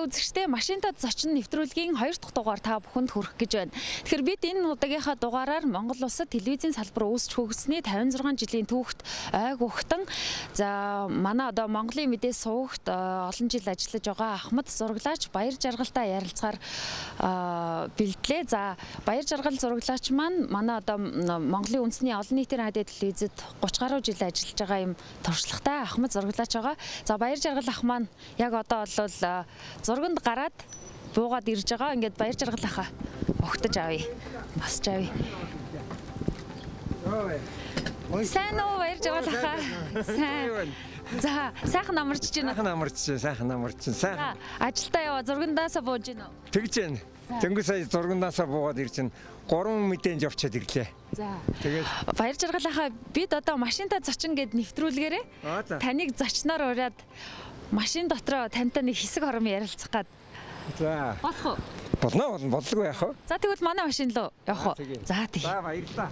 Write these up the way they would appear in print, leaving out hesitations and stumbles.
Сайнтай үзэгчдээ машинтад зочин нэвтрүүлгийн 2 дахь дугаар та бүхэнд хүрэх гэж байна. Тэгэхээр бид энэ удаагийнхаа дугаараар Монгол улсад телевизийн салбар үүсч хөгжсөний 56 жилийн түүхт ойг ухтан за манай одоо Монголын мэдээ сувагт олон жил ажиллаж байгаа Ахмад зураглаач Баяр Жаргалтай ярилцахаар бэлдлээ. За Баяр Жаргал зураглаач маань манай одоо Монголын үндэсний олон нийтийн радио телевизэд 30 гаруй жил ажиллаж байгаа юм туршлагатай Ахмад зураглаач байгаа. За Баяр Жаргал ах маань яг одоо бол зурганд гараад буугаад ирж байгаа. Ингээд Баяр Жаргал ахаа огтож авъя. Басж авъя. Сайн уу Баяр Жаргал ахаа? Сайн. За сайхан амарч байна. Сайхан амарч. Сайхан. Ажилдаа яваа зургандаасаа бууж гин үү? Тэгж байна. Тэнгүү сая зургандаасаа буугаад ирж байна. 3 мэдээнд явчаад ирлээ. За. Тэгээд Баяр Жаргал ахаа бид одоо машинтаа зочин гэд нэвтрүүлгээрээ таныг зочноор ураад машин дотроо тантай нэг хэсэг хором ярилцах гад. За. Болох уу? Болгүй яах вэ? За тэгвэл манай машин руу явах уу? За тий. За баярлалаа.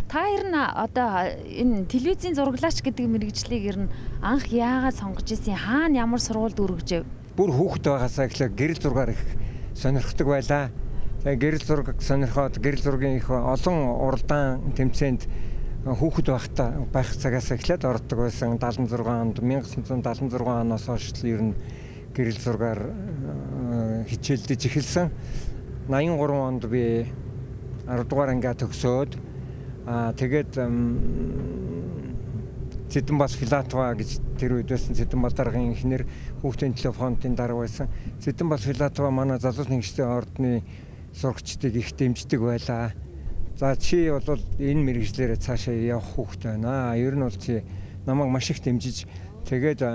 Та ер нь одоо энэ телевизийн зураглаач гэдэг мэргэжлийг ер нь анх яагаад сонгож ирсэн? Хаана ямар сургуульд өргөжв? Бүр хүүхэд байгаасаа эхлээ гэрэл зургаар их сонирхдаг байлаа. Тэгээ гэрэл зураг сонирхоод гэрэл зургийн их олон уралдаан тэмцээнд хүүхэд байх цагаас эхлээд ордог байсан. 76 онд 1976 оноос хойш ер нь гэрэл зургаар хичээлдэж эхэлсэн. 83 онд би 10 дугаар ангиа төгсөөд тэгээд Цэдэнбас Филатова гэж тэр үед байсан Цэдэнбас даргын инженер хүүхдийн телефонын дарга байсан. Цэдэнбас Филатова манай залуус нэгжлийн ордны сурагчдыг их дэмждэг байлаа. За чи бол энэ мэргэжлээрээ цаашаа явах хүүхэд байна. Ер нь бол чи намайг маш их дэмжиж тэгээд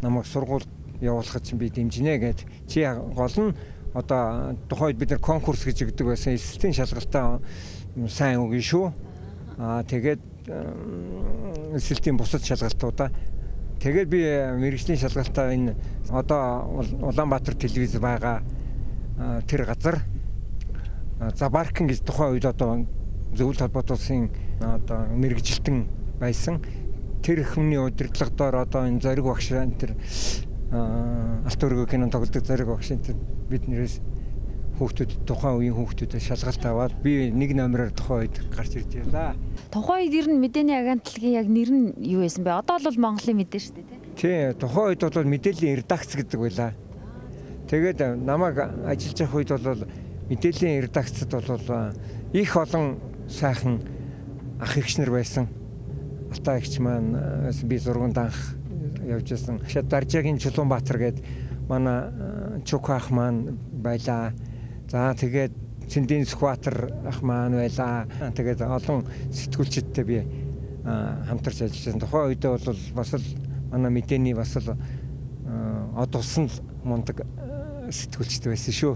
намайг сургуульд явуулахад би дэмжинэ гэд чи гол нь одоо тухайд бид нар конкурс гэж өгдөг байсан. Эсэлтийн шалгалтаа сайн үгүй шүү. Тэгээд эсэлтийн бусад шалгалтуудаа тэгээд би мэргэжлийн шалгалтаа энэ одоо Улаанбаатар телевиз байгаа тэр газар за Баркин гэж тухайн үед одоо зөвлөлт холбоот улсын одоо мэргэжилтэн байсан. Тэр хүмүүний удирдлагаар одоо энэ зориг багш тэр алт өргөө кинон тоглодог зориг багш тэр биднээс хүүхдүүд тухайн үеийн хүүхдүүдэд шалгалт аваад би нэг номероор тухайн үед гарч ирж байлаа. Тухайн үед ер нь мэдээний агентлагийн яг нэр нь юу байсан бэ? Одоо бол Монголын мэдээ шүү дээ, тий. Тухайн үед бол мэдээллийн редакц гэдэг байлаа. Тэгээд намайг ажиллаж явах үед бол мэдээллийн редакцад бол их олон сайхан ах эгч нар байсан. Алтай эгч маань би зурганд анх явж байсан. Даржаагийн Чулуунбаатар гээд манай Чук ах маань байлаа. За тэгээд Цэндийн Сүхбаатар ах маань байлаа. Тэгээд олон сэтгүүлчидтэй би хамтарч ажилласан. Тухайн үед бол бас л манай мэдээний бас л од усан мундаг сэтгүүлчтэй байсан шүү.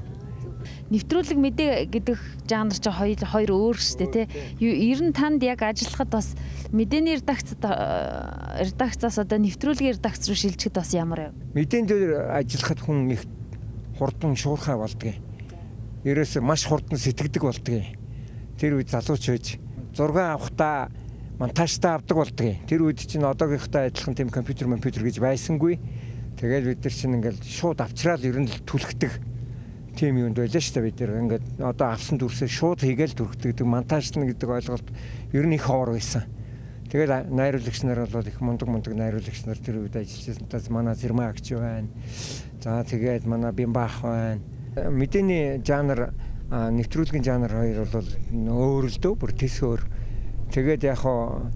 Нэвтрүүлэг мэдээ гэдэг жанр чинь хоёр өөр шүү дээ, тий. Ер нь танд яг ажиллахад бас мэдээний редакцаас одоо нэвтрүүлгийн редакц руу шилжихэд бас ямар вэ? Мэдээний дээр ажиллахад хүн их хурдан шуурхай болдгийг. Ерөөсөө маш хурдан сэтгэдэг болдгийг. Тэр үед залууч байж зураг авахдаа монтажтаа авдаг болдгийг. Тэр үед чинь одоогийнхтай адилхан тийм компьютер гэж байсангүй. Тэгээд бид нар чинь ингээл шууд авчраад ер нь түлхдэг тийм юунд байлаа шүү дээ. Бид нар ингээд одоо авсан дүрсээ шууд хийгээл түрхдэг монтажлна гэдэг ойлголт ер нь их ховор байсан. Тэгээд найруулагч нар бол их мундаг найруулагч нар тэр үед ажиллаж байсан. Манай Зэрмаа агч байна. За тэгээд манай Бимбах байна. Мэдээний жанр нэвтрүүлгийн жанр хоёр бол өөр л дөө бүр тэс өөр. Тэгээд яг хоо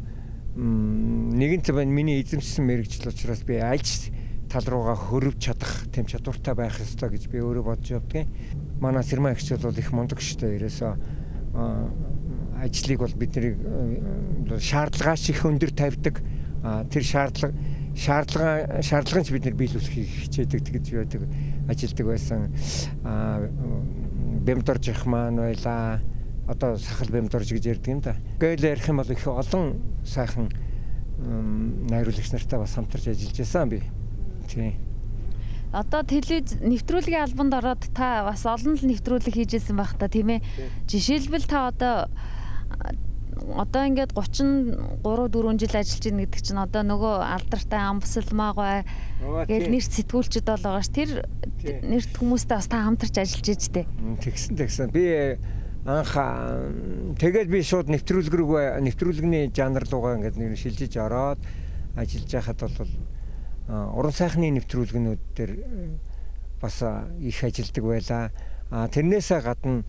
нэгэн цаг миний эзэмшсэн мэргэжил учраас би альж тал руугаа хөрвж чадах тийм чадвартай байх ёстой гэж би өөрөө бодож явдгийн. Манай Сэрмаа агч бол их мундаг штэ. Ерөөсөө ажлыг бол бидний шаардлагаас их өндөр тавьдаг. Тэр шаардлагын ч бид нар биелүүлэхийг хичээдэг гэж байдаг ажилдаг байсан. Бэмдорж их маань байлаа. одоо сахал бямдорж гэж ярьдаг юм да. Гээл ярих юм бол их олон сайхан найруулагч нартай бас хамтарч ажиллаж байсан би. Тийм. Одоо телевиз нэвтрүүлгийн албанд ороод та бас олон л нэвтрүүлэг хийжсэн байх та тийм ээ. Жишээлбэл та одоо ингээд 33 4 жил ажиллаж байна гэдэг чинь одоо нөгөө алдартай Амбасалмаагүй гэж нэр сэтгүүлчд бол байгаа ш. Тэр нэрт хүмүүстэй бас та хамтарч ажиллаж дээ. Тэгсэн. Би анх тэгээд би шууд нэвтрүүлэгний жанр руугаа ингээд нэр шилжиж ороод ажиллаж байхад бол уран сайхны нэвтрүүлгэнүүд дээр бас их ажилдаг байлаа. Тэрнээсээ гадна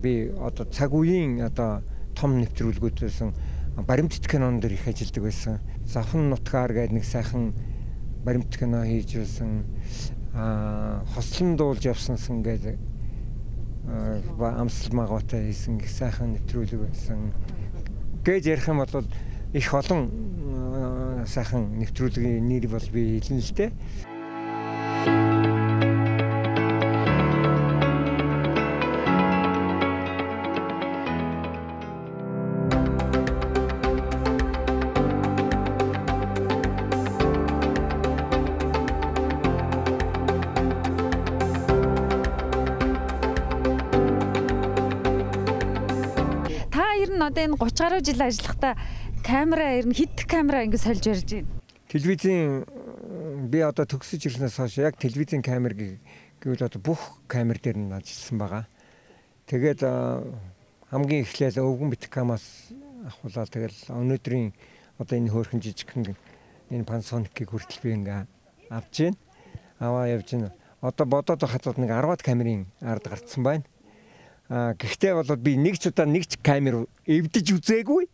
би одоо цаг үеийн одоо том нэвтрүүлгүүд байсан баримтат кинон дээр их ажилдаг байсан. Завхан нутгаар гэдэг нэг сайхан баримт кино хийж байсан. Хослон дуулж явсансан гэдэг Амсалмаагаатай хийсэн их сайхан нэвтрүүлэг байсан. Гэж ярих юм бол их олон сайхан нэвтрүүлгийн нэр бол би хэлнэ л дээ. Одоо энэ 30 гаруй жил ажиллахдаа камера ер нь хэд камера ингэ сольж барьж байна. Телевизийн би одоо төгсөж ирснээс хойш яг телевизийн камер гэвэл одоо бүх камер дээр нь ажилласан байгаа. Тэгээд хамгийн эхлээл өвгөн биткамаас авахулаа тэгэл өнөөдрийн одоо энэ хөөрхөн жижигхэн энэ Panasonic-ийг хүртэл би ингээ авч гин. Аваа явж гин. Одоо бодоод байхад нэг 10-аад камерын ард гарцсан байна. Гэхдээ бол би нэг ч удаа нэг ч камер эвдэж үзээгүй.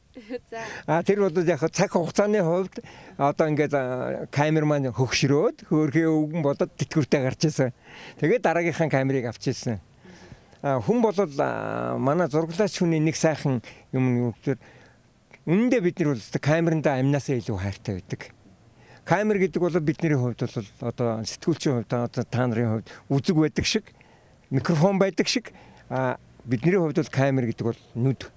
Тэр бол яг цаг хугацааны хувьд одоо ингээд камер маань хөгшрөөд хөөрхий өвгөн болоод тэтгэвртэй гарч ирсэн. Тэгээд дараагийнхаа камерыг авч ирсэн. Хүн бол манай зураглаач хүний нэг сайхан юм гэхээр үнэндээ бид нар бол камеранда амнасаа илүү хайртай байдаг. Камер гэдэг бол бидний хувьд бол одоо сэтгүүлчийн хувьд одоо та нарын хувьд үзэг байдаг шиг, микрофон байдаг шиг бидний хувьд бол камер гэдэг бол нүд.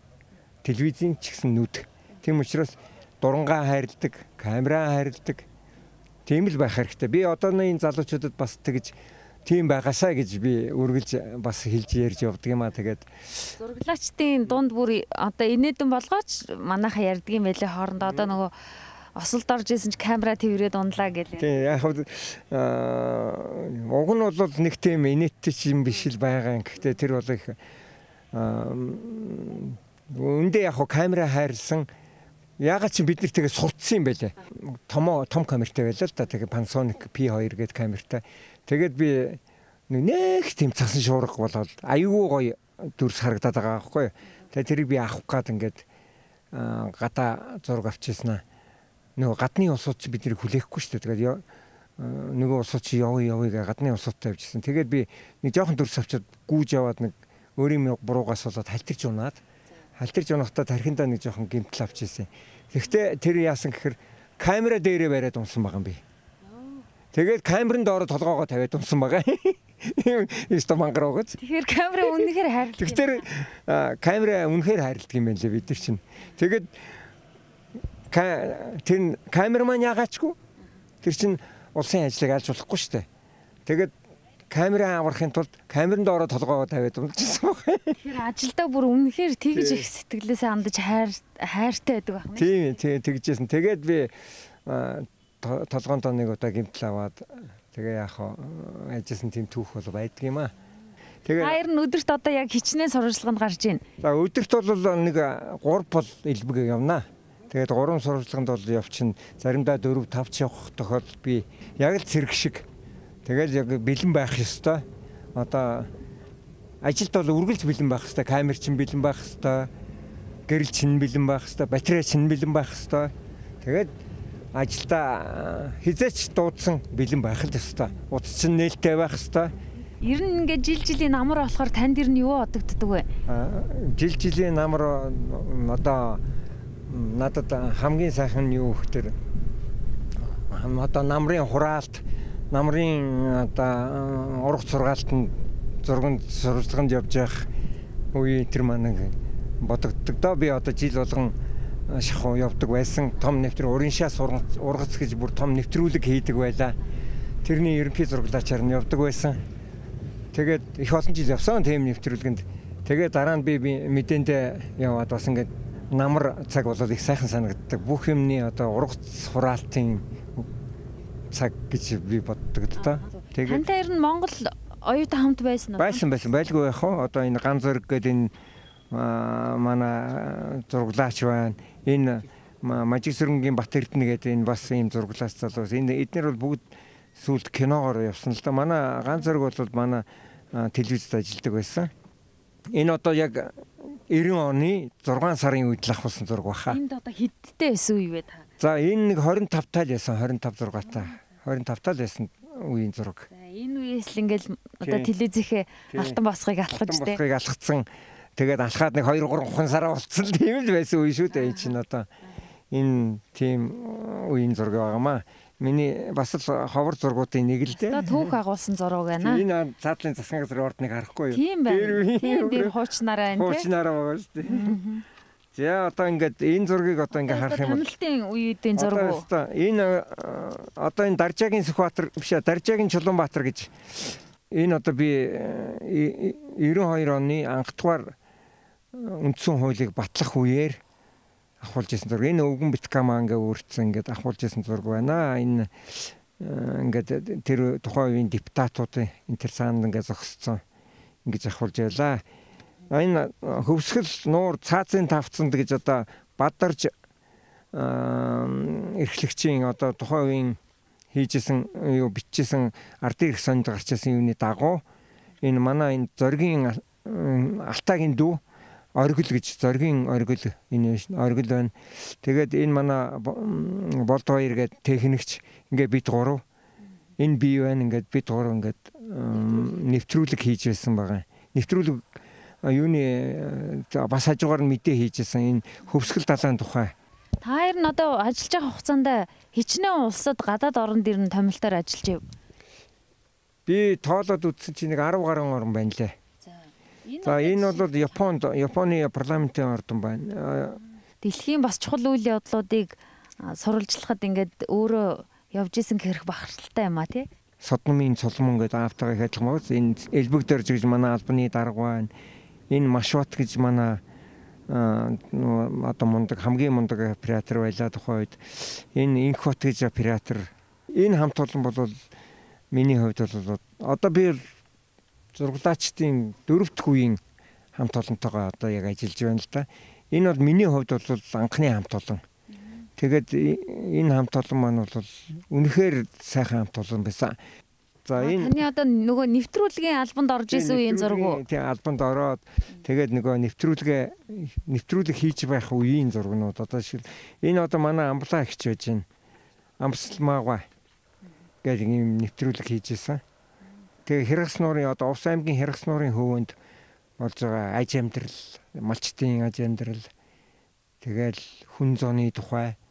Телевизийн ч гэсэн нүд. Тийм учраас дурангаа хайрладаг, камераа хайрладаг. Тийм л байх хэрэгтэй. Би одооны энэ залуучуудад бас тэгж тийм байгаасаа гэж би үргэлж бас хэлж ярьж явдаг юм аа. Тэгээд зураглаачдын дунд бүр одоо инээдэн болгооч манайхаа ярьдаг юм байлээ хоорондоо одоо нөгөө осолд орж исэн ч камера тврээд ундлаа гэлээ. Тийм яг уг нь бол нэг тийм инээдтэй юм биш л байгаа. Гэхдээ тэр бол их үндэ яг камера хайрлсан. Ягаад чи бид нар тэгээ сурцсан юм байлээ. Том камертай байлаа л да. Тэгээ Panasonic P2 гэдэг камертай. Тэгээд би нэг тийм цасан шуурга болоод аюу гоё дүрс харагдаад байгаа байхгүй. Тэгээ тэрийг би авах гээд ингээд гадаа зураг авчихсан аа. Нөгөө гадны улсууд чи биднийг хүлээхгүй шүү дээ. Тэгээд нөгөө улсууд чи явъя гэ гадны улсуудтай явжсэн. Тэгээд би нэг жоохон дүрс авчиад гүүж яваад нэг өөрийн буруугаас болоод халтирч унаад. Халтирч унахдаа тархиндаа нэг жоохон гэмтэл авчихсан. Тэгэхдээ тэр яасан гэхээр камера дээрээ бариад унсан байгаа юм би. Тэгээд камерын доороо толгоогоо тавиад унсан байгаа. Исто мангар уугач. Тэгэхээр камера үнэхээр хайрладаг. Тэгэхээр камера үнэхээр хайрладаг юм байна лээ бид нар чинь. Тэгээд тэр камерман ягаачгүй. Тэр чинь улсын ажлыг алж болохгүй шүү дээ. Тэгээд камера аврахын тулд камерын доороо толгоогоо тавиад унажсан байна. Тэгэхээр ажилдаа бүр үнэхээр тэгж их сэтгэлээсээ хандаж хайртай байдаг байна. Тийм тэгжсэн. Тэгээд би толгоонд нэг удаа гэмтэл аваад тэгээ яах вэ? Ажилласан тийм түүх бол байдаг юм аа. Тэгээд хоёр нь өдөрт одоо яг хичнээн сурвалжлаганд гарч байна. За өдөрт бол нэг 3 бол элбэг явнаа. Тэгээд 3 сурвалжлаганд бол явчихна. Заримдаа 4 5 ч явах тохиолдол би яг л цэрэг шиг. Тэгээд яг бэлэн байх ёстой. Одоо ажилд бол үргэлж бэлэн байх ёстой. Камер чинь бэлэн байх ёстой. Гэрэл чинь бэлэн байх ёстой. Батарей чинь бэлэн байх ёстой. Тэгээд ажилдаа хизээч дуудсан бэлэн байх л ёстой. Утас чинь нээлттэй байх ёстой. Ер нь ингээд жилийн намар болохоор танд ер нь юу бодогддог вэ? Жилийн намар одоо надад хамгийн сайхан нь юу гэхээр одоо намрын хураалт, намрын одоо ургац сургаалтанд зурганд сурвалжлаганд явж явах үе тэр маань бодогддог доо. Би одоо жил болгон шахуу явдаг байсан. Том нэвтрүүлэг уран шаа ургац гэж бүр том нэвтрүүлэг хийдэг байлаа. Тэрний ерөнхий зураглаачаар нь явдаг байсан. Тэгээд их олон жил явсан тийм нэвтрүүлгэнд. Тэгээд дараа нь би мэдээндээ яваад бас ингээд намар цаг болоод их сайхан санагддаг. Бүх юмны одоо ургац хураалтын цаг гэж би боддог л доо. Тэгээд тантай ер нь Монгол оюутан хамт байсан уу? Байсан байлгүй яах вэ? Одоо энэ Ган Зориг гэдэг энэ манай зураглаач байна. Энэ Мажиг Сүрэнгийн Бат Эрдэнэ гэдэг энэ бас ийм зураглаач залуус. Энэ эдгээр бол бүгд сүүлд киногоор явсан л да. Манай Ган Зориг бол манай телевизэд ажилладаг байсан. Энэ одоо яг 90 оны 6 сарын үед л авсан зураг баха. Энд одоо хэдтэй байсан үе вэ та? За энэ нэг 25 тал байсан. 25 зургаатай. 25 тал байсан үеийн зураг. За энэ үеэс л ингээл одоо телевизийнхээ алтан босхыг алхаж дээ. Босхыг алхацсан. Тэгээд алхаад нэг 2-3 сараа болцсон тийм л байсан үе шүү дээ. Энэ чинь одоо энэ тийм үеийн зураг байгаамаа. Миний бас л ховор зургуудын нэг л дээ. Түүх агуулсан зураг байна. Энэ цаатлын засгийн газрын ордныг харахгүй юу? Тийм байна. Тэр хуучнараа энэ. Хуучнараа байгаа шүү дээ. За одоо ингээд энэ зургийг одоо ингээд харах юм бол Томилтын үеийн зураг уу? Энэ одоо энэ Даржаагийн Сүхбаатар биш Даржаагийн Чулуунбаатар гэж энэ одоо би 92 оны анхдугаар үндсэн хуулийг батлах үеэр авахулж исэн зураг. Энэ өвгөн биткамаа ингээд өөрчлөсөн ингээд авахулж исэн зураг байна. Энэ ингээд тэр тухайн үеийн депутатуудын энэ цаанд ингээд зогссон ингэж авахулж байлаа. Энэ хөвсгөл нуур цаазын тавцанд гэж одоо бадарж эрхлэгчийн одоо тухайн үеийн хийжсэн юу бичсэн ардын эрх сонд гарч ирсэн юуны дагуу энэ манай энэ зоригийн алтаагийн дүү оргил гэж зоригийн оргил энэ оргил байна. Тэгээд энэ манай болд хоёр гээд техникч ингээд бид гурав энэ бий байна ингээд бид гурав ингээд нэвтрүүлэг хийж байсан байгаа. Нэвтрүүлэг юуны бас хажуугаар нь мэдээ хийжсэн энэ хөвсгөл далайн тухай. Та хоёр нь одоо ажиллаж байгаа хугацаанд хичнээн улсад гадаад орнд ирнэ томилтоор ажиллаж байв. Би тоолоод үзсэн чинь нэг 10 гаруй орн байна лээ. За энэ бол Японы парламентын ордон байна. Дэлхийн бас чухал үйл явдлуудыг сурвалжлахад ингээд өөрөө явж исэн хэрэг бахархалтай юм а тий. Содномын цолмон гэдэг автагаа их ажиллах мөн энэ элбэг дөрж гэж манай албаны дарга байна. Энэ Машват гэж манай одоо мундаг хамгийн мундаг оператор байлаа тухайн үед. Энэ Инхот гэж оператор. Энэ хамт олон бол миний хувьд бол одоо би зурглаачдын 4 дахь үеийн хамт олонтойгоо одоо яг ажиллаж байна л да. Энэ бол миний хувьд бол анхны хамт олон. Тэгээд энэ хамт олон маань бол үнэхээр сайхан хамт олон байсан. За энэ таны одоо нөгөө нэвтрүүлгийн албанд орж исэн үеийн зураг уу? Тийм албанд ороод тэгээд нөгөө нэвтрүүлэг хийж байх үеийн зургнууд одоо шиг энэ одоо манай амблаа ихч байж байна. Амсалмаагаа гэдэг ийм нэвтрүүлэг хийжсэн. Тэгээ Хэрэгс нуурын одоо Увс аймгийн Хэрэгс нуурын хөвөнд болж байгаа аж амьдрал, малчтын аж амьдрал тэгэл хүн зооны тухай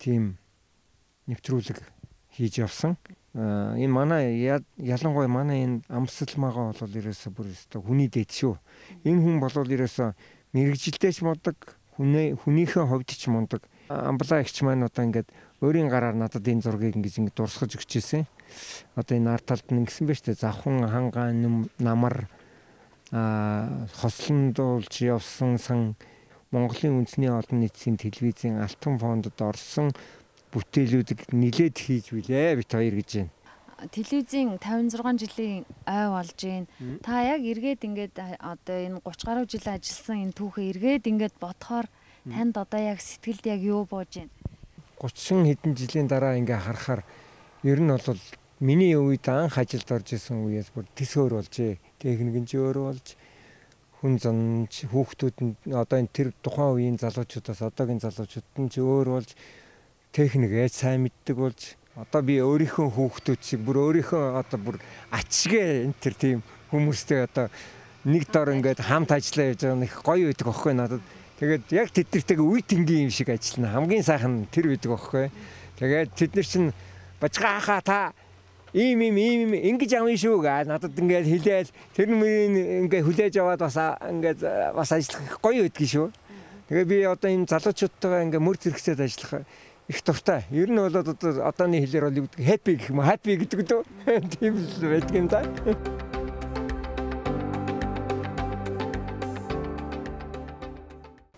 тийм нэвтрүүлэг хийж явсан. Энэ манай ялангуяа манай энэ Амсалмаагаа бол ерөөсө бүр өстой хүний дэд шүү. Энэ хүн бол ерөөсө мэрэгжилтэйч мундаг, хүнийхээ хувьд ч мундаг. Амблаа ихч маань одоо ингээд өөрийн гараар надад энэ зургийг ингэж дурсгаж өгч ирсэн. Одоо энэ ард талд нь ингэсэн байж тээ завхан хангаан намар хослондуулж явсан сан Монголын үндэсний олон нийтийн телевизийн алтан фондод орсон бүтээлүүдийг нилээд хийж билээ бит хоёр гэж байна. Телевизийн 56 жилийн ой болж байна. Та яг эргээд ингээд одоо энэ 30 гаруй жил ажилласан энэ түүхээ эргээд ингээд бодохоор танд одоо яг сэтгэлд яг юу бууж байна? 30 хэдэн жилийн дараа ингээ харахаар ер нь бол миний үед анх ажилд орж исэн үеэс бүр тис өөр болжээ. Техник нь өөр болж хүн зан хүүхдүүд нь одоо энэ тэр тухайн үеийн залуучуудаас одоогийн залуучууд нь ч өөр болж техник яаж сайн мэддэг болж одоо би өөрийнхөө хүүхдүүд шиг бүр өөрийнхөө одоо бүр ачгээ энэ тэр тийм хүмүүстэй одоо нэг дор ингээд хамт ажиллаа явж байгаа нь их гоё байдаг аахгүй надад. Тэгээд яг тэднэртэйгээ үе тэнгийн юм шиг ажиллана. Хамгийн сайхан тэр байдаг аахгүй. Тэгээд тэд нар чинь бажгаахаа та ийм ингэж авна шүү гээ надад ингээд хэлээл тэр нэрийг ингээд хүлээж аваад бас ингээд бас ажиллах гоё байдгийн шүү. Тэгээ би одоо энэ залуучуудтайгаа ингээд мөр зэрэгцээд ажиллах их дуртай. Ер нь бол одооны хэлээр бол happy гэх юм happy гэдэг үү? Тийм л байдаг юм да.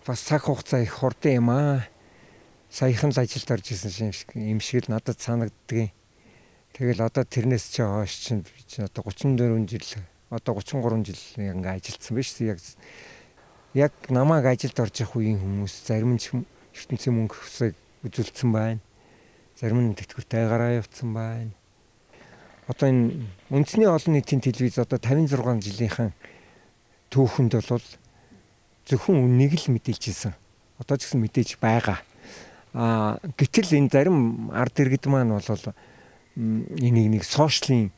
Бас цаг хугацаа их хурдан юм аа. Саяхан л ажилд орж исэн юм шиг л надад санагддаг. Тэгэл одоо тэрнээс ч хойш чинь одоо 34 жил, одоо 33 жил ингээ ажилдсан биш яг намайг ажилд орж явах үеийн хүмүүс зарим нь ертөнцийн мөнгө хөсөйг үзүүлсэн байна. Зарим нь тэтгэвртэйгаараа явцсан байна. Одоо энэ үндэсний олон нийтийн телевиз одоо 56 жилийнхэн түүхэнд бол зөвхөн үнийг л мэдээлж ирсэн. Одоо ч гэсэн мэдээж байгаа. Гэтэл энэ зарим ард иргэд маань бол энийг нэг сошиалын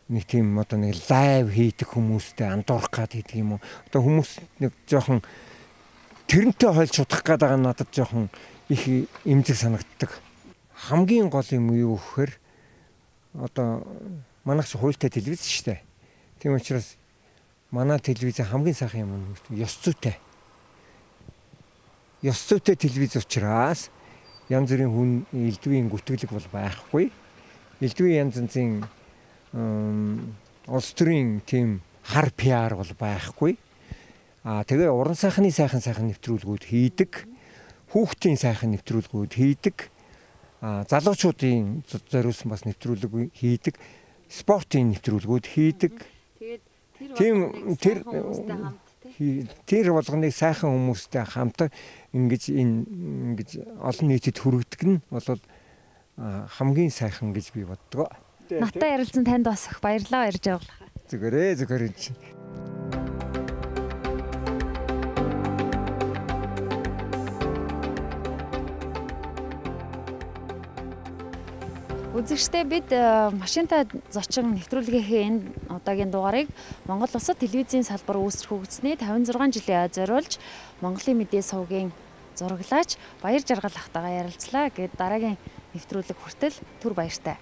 нэг тийм одоо нэг лайв хийдэг хүмүүстэй андуурах гад гэдэг юм уу. Одоо хүмүүс нэг жоохон тэрнтэй хойлж судах гээд байгаа надад жоохон их эмзэг санагддаг. Хамгийн гол юм юу гэхээр одоо манайх ч хуультай телевиз шүү дээ. Тийм учраас манай телевизийн хамгийн сайхан юм нь ёс зүйтэй. Ёс зүйтэй телевиз учраас янз бүрийн хүн элдвийн гүтгэлэг бол байхгүй. Элдвийн янз янзын улс төрийн тийм хар PR бол байхгүй. Тэгээ уран сайхны сайхан нэвтрүүлгүүд хийдэг. Хүүхдийн сайхан нэвтрүүлгүүд хийдэг. Залуучуудын зориулсан бас нэвтрүүлэг хийдэг. Спортын нэвтрүүлгүүд хийдэг. Тэгээд тэр болгоныг сайхан хүмүүстэй хамт ингэж олон нийтэд хүргэдэг нь бол хамгийн сайхан гэж би боддог. Натаа ярилцсан танд бас их баярлалаа ярьж байгаа. Зүгээр. Үзэгчдээ бид машинтай зочин нэвтрүүлгийнхээ энэ удаагийн дугаарыг Монгол Улсад телевизийн салбар үүсгэх хөгжсөний 56 жилийн ой зориулж Монголын мэдээ сувгийн зураглаач Баяр Жаргал ахтайгаа ярилцлаа. Гээд дараагийн нэвтрүүлэг хүртэл түр баяртай.